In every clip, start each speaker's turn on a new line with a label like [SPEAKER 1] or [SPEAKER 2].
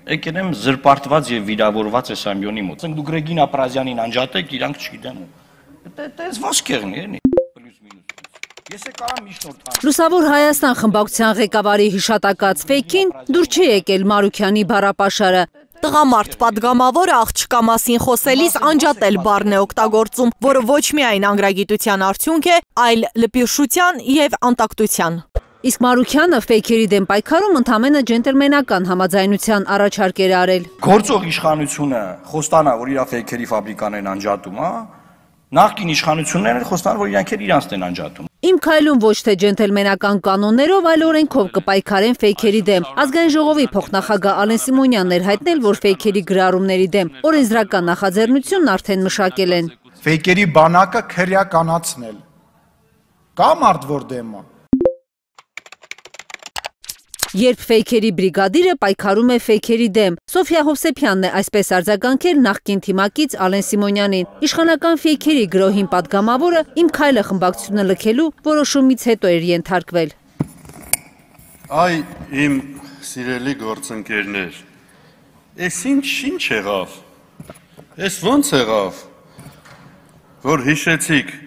[SPEAKER 1] եկել եմ զրպարտված եւ վիրավորված Էսամյոնի մոտ։ Ասենք դուք Ռեգինա Պրազյանին անջատեք, իրանք չգիտեմ։ Դա վասկեղն է, պլյուս մինուս։ Ես կարամ միջնորդ հանեմ։
[SPEAKER 2] Լուսավոր Հայաստան խմբակցության ղեկավարի հիշատակած ֆեյքին դուր չի եկել Մարուքյանի բառապաշարը։
[SPEAKER 3] Տղամարդ պատգամավորը աղջկա մասին խոսելիս անջատել բառն է օգտագործում, որը ոչ միայն անգրագիտության արդյունք է, այլ լպիրշության եւ անտակտության։
[SPEAKER 2] Իսկ Մարուքյանը ֆեյքերի դեմ պայքարում ընդամենը ջենտլմենական համաձայնության առաջարկ էր արել։
[SPEAKER 1] Գործող իշխանությունը խոստանա, որ իր ֆեյքերի ֆաբրիկաներն անջատում, հա։ Նախկին իշխանություններն խոստանում, որ իրանք իրանց են անջատում։
[SPEAKER 2] Իմ քայլում ոչ թե ջենտլմենական կանոններով, այլ օրենքով կպայքարեն ֆեյքերի դեմ։ Ազգային ժողովի փոխնախագահ Ալեն Սիմոնյանն էր հայտնել, որ ֆեյքերի գրառումների դեմ օրենսդրական նախաձեռնությունն արդեն մշակել են։
[SPEAKER 4] Ֆեյքերի բանակը քրեականացնել։ Կա մարդ որ դեմ է։
[SPEAKER 2] Երբ ֆեյքերի բրիգադիրը պայքարում է ֆեյքերի դեմ, Սոֆիա Հովսեփյանն է այսպես արձագանքել նախկին թիմակից Ալեն Սիմոնյանին։ Իշխանական ֆեյքերի գրոհին պատգամավորը իմ քայլը խմբակցությունը լքելու որոշումից հետո էր ենթարկվել։
[SPEAKER 5] Այ իմ սիրելի գործընկերներ, էս ինչ եղավ, էս ոնց եղավ, որ հիշեցիք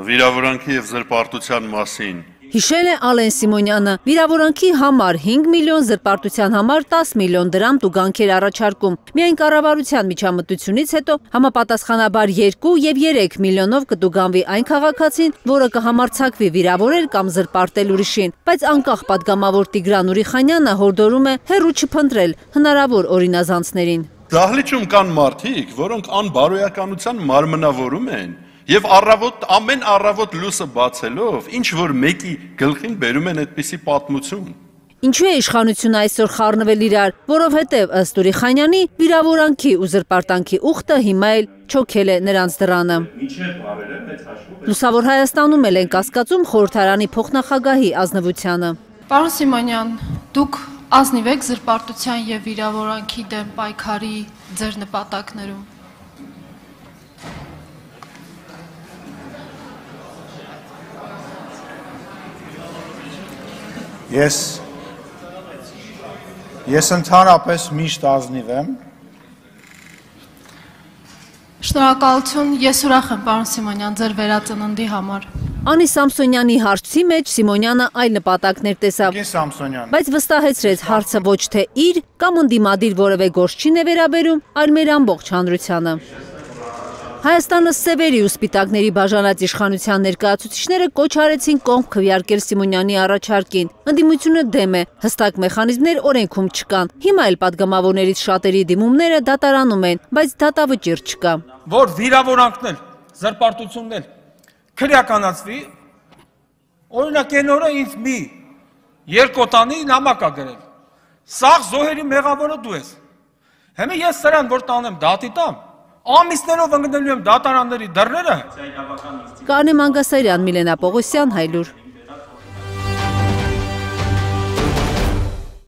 [SPEAKER 5] վիրավորանքի և զրպարտության մասին։
[SPEAKER 2] Հիշել է Ալեն Սիմոնյանը, վիրավորանքի համար 5 միլիոն, զրպարտության համար 10 միլիոն դրամ տուգանքեր առաջարկում։ Միայն կառավարության միջամտությունից հետո համապատասխանաբար 2 և 3 միլիոնով կտուգանվի այն քաղաքացին, որը կհամարձակվի վիրավորել կամ զրպարտել ուրիշին, բայց անկախ պատգամավոր Տիգրան Ուրիխանյանը հորդորում է հեռու չփնտրել հնարավոր օրինազանցներին։
[SPEAKER 5] Դահլիճում կան մարդիկ, որոնք անբարոյականության մարմնավորում են և ամեն առավոտ լույսը բացելով, ինչ որ մեկի գլխին բերում են այդպիսի պատմություն։
[SPEAKER 2] Ինչու է իշխանությունը այսօր խառնվել իրար, որովհետև ըստ Ուրիխանյանի վիրավորանքի ու զրպարտանքի ուխտը հիմա էլ չոքել է նրանց դռանը։ Լուսավոր Հայաստանում էլ են կասկածում խորհրդարանի փոխնախագահի ազնվությանը։
[SPEAKER 6] Պարոն Սիմոնյան, դուք ազնիվ եք զրպարտության և վիրավորանքի դեմ պայքարի ձեր նպատակներում։
[SPEAKER 4] Ես ընդհանրապես միշտ ազնիվ եմ։
[SPEAKER 6] Շնորհակալություն, ես ուրախ եմ, պարոն Սիմոնյան, ձեր վերածննդի համար։
[SPEAKER 2] Անի Սամսոնյանի հարցի մեջ Սիմոնյանը այլ նպատակներ տեսավ, բայց վստահեցրեց հարցը ոչ թե իր կամ ընդդիմադիր որևէ գործչին է վերաբերում, այլ մեր ամբողջ հանրությանը։ Հայաստանը սևերի ու սպիտակների բաժանած իշխանության ներկայացուցիչները կոչ արեցին կողմ քվեարկել Սիմոնյանի առաջարկին։ Ընդդիմությունը դեմ է, հստակ մեխանիզմներ օրենքում չկան։ Հիմա էլ պատգամավորներից շատերի դիմումները դատարանում են, բայց դատավճիռ չկա։
[SPEAKER 7] Որ վիրավորանքներ, զրպարտություններ քրեականացվի, օրինակ այն օրը ինձ մի երկոտանի նամակ ա գրել։ Սաղ զոհերի մեղավորը դու ես։ Հիմա ես սրան որ տանեմ դատի տամ, ամիսներով ընկնելու եմ դատարանների դռները։
[SPEAKER 2] Կարնե Մանգասարյան, Միլենա Պողոսյան, Հայլուր։